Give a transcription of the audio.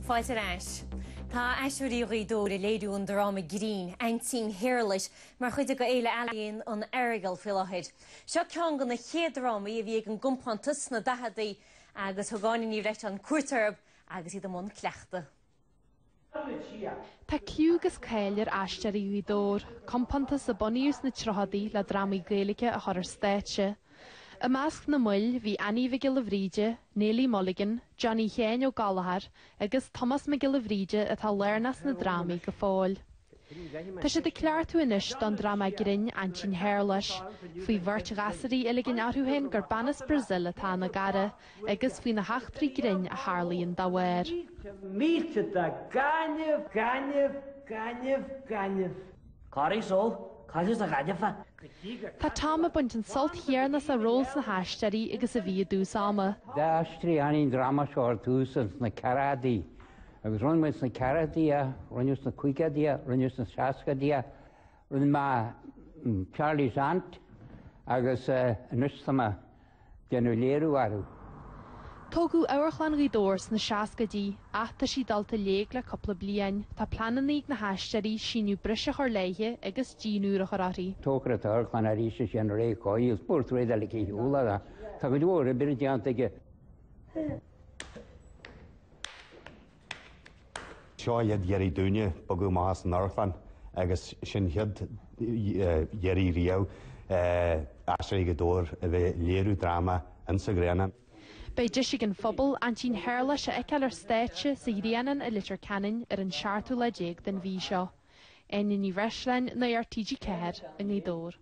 Fáilte ar ais. Tá Aisteoirí Ghaoth Dobhair ag léiriú an dráma grinn, Aintín Shéarlais, mar chuid de Fhéile Ealaíon an Earagail faoi láthair. Seo ceann de na chéad drámaí a bhí ag an gcompántas sna daicheadaí agus thug Áine Ní Bhreisleáin cuairt orthu agus iad i mbun cleachtaidh. Tá cliú agus cáil ar Aisteoirí Ghaoth Dobhair, compántas a bunaíodh sna tríochadaí le drámaí Gaeilge a chur ar stáitse. I measc na mbaill bhí Annie Mhic Giolla Bhríde, Neilí Mulligan, Johnny Sheáin Ó Gallchóir agus Tomás Mac Giolla Bhríde atá lárnach sna drámaí go fóill. Tá siad ag cleachtadh anois don dráma grinn Aintín Shéarlais, faoi bheirt ghasúraí a ligeann orthu féin gur bean as Brazil atá ina gcara agus faoi na heachtraí grinn a tharlaíonn dá bharr. Mílte de gaineamh, gaineamh, gaineamh, gaineamh. Corraigh só, cailleadh sa ghaineamh é. Tá Tom ag baint an sult chéanna as a ról sna hAisteoirí agus a bhí i dtús ama. D'aistrigh Annie an dráma seo ar tús ins na ceathrachaidí agus rinne muid sna ceathrachaidí é, rinneadh sna caogaidí é, rinneadh sna seascaidí é, rinne mé Charlie's Aunt agus anois tá mé déanamh léiriú orthu. Tógadh Amharclann Ghaoth Dobhair sna seascaidí ach tá sí dulta i léig le cúpla bliain. Tá pleananna ag na hAisteoirí síneadh breise a chur léithe agus díon úr a chur uirthi. Tógfar an t-amharclann arís is é an Ray Coyle, spórt réad eile cé shiúl air. Tá cuid mhór oibre déanta aige. Seo an chéad iarraidh dúinne bogadh amach as an amharclann agus sin chéad iarraidh riamh Aisteoirí Ghaoth Dobhair a bheith ag léiriú dráma insa Ghrianán. Beidh deis ag an phobal Aintín Shéarlais a fheiceáil ar stáitse sa Ghrianán i Leitir Ceanainn ar an seachtú lá déag den mhí seo. Áine Ní Bhreisleáin, Nuacht TG4 i nGaoth Dobhair.